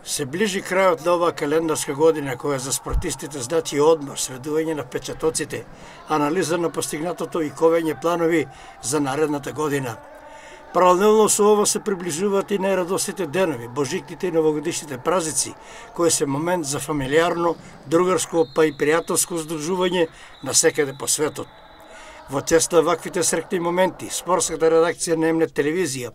Се ближи крајот на оваа календарска година, која за спортистите значи одмор, средување на впечатоците, анализа на постигнатото и ковење планови за наредната година. Паралелно со ова се приближуваат и најрадосните денови, божикните и новогодишните празници, кои се момент за фамилиарно, другарско, па и пријателско здружување насекаде по светот. Во чест на ваквите срекни моменти, спортската редакција на М-нет телевизија,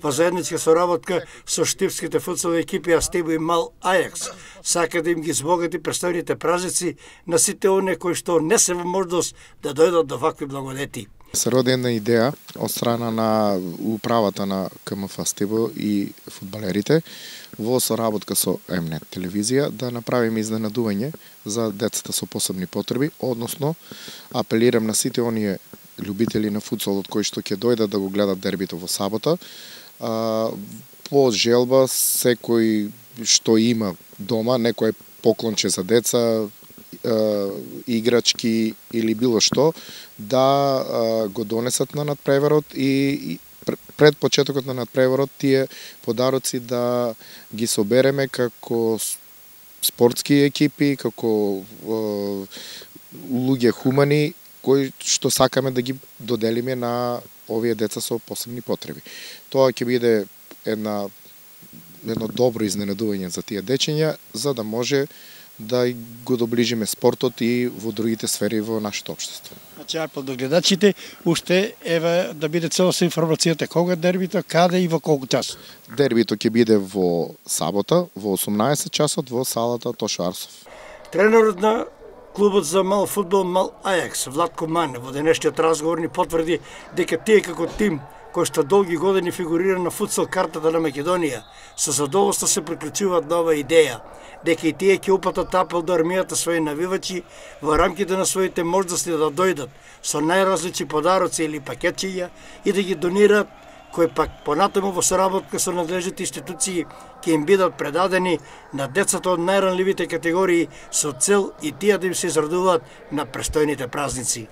во заедничка соработка со штипските футсал екипи Астибо и Мал Ајакс, сака да им ги збогати престојните празници на сите оние кои што не се во можност да дојдат до вакви благодети. Се роди една идеја од страна на управата на КМФ Астибо и фудбалерите во соработка со М-нет телевизија да направиме изненадување за децата со посебни потреби, односно апелирам на сите оние љубители на футсалот кои што ќе дојдат да го гледат дербито во сабота, по желба секој што има дома, некој поклонче за деца, играчки или било што, да го донесат на надпреварот и пред почетокот на надпреварот тие подароци да ги собереме како спортски екипи, како луѓе хумани кои што сакаме да ги доделиме на овие деца со посебни потреби. Тоа ќе биде едно добро изненадување за тие дечиња, за да може да го доближиме спортот и во другите сфери во нашето општество. Значи, апел до гледачите, уште еве да биде целосно информацијата кога дербито, каде и во колку час. Дербито ќе биде во сабота, во 18 часот во салата Тошо Арсов. Тренерот на клубот за мал фудбал Мал Ајакс, Владко Мане, во денешниот разговор ни потврди дека тие како тим кој што долги години фигурира на футсал картата на Македонија, со задоволство се приклучуваат на оваа идеја, дека и тие ќе упатат апел до армијата своји навивачи во рамките на своите можности да дојдат со најразлични подароци или пакетчиња и да ги донираат, кои пак понатаму во соработка со надлежните институции ќе им бидат предадени на децата од најранливите категории со цел и тие да им се израдуваат на престојните празници.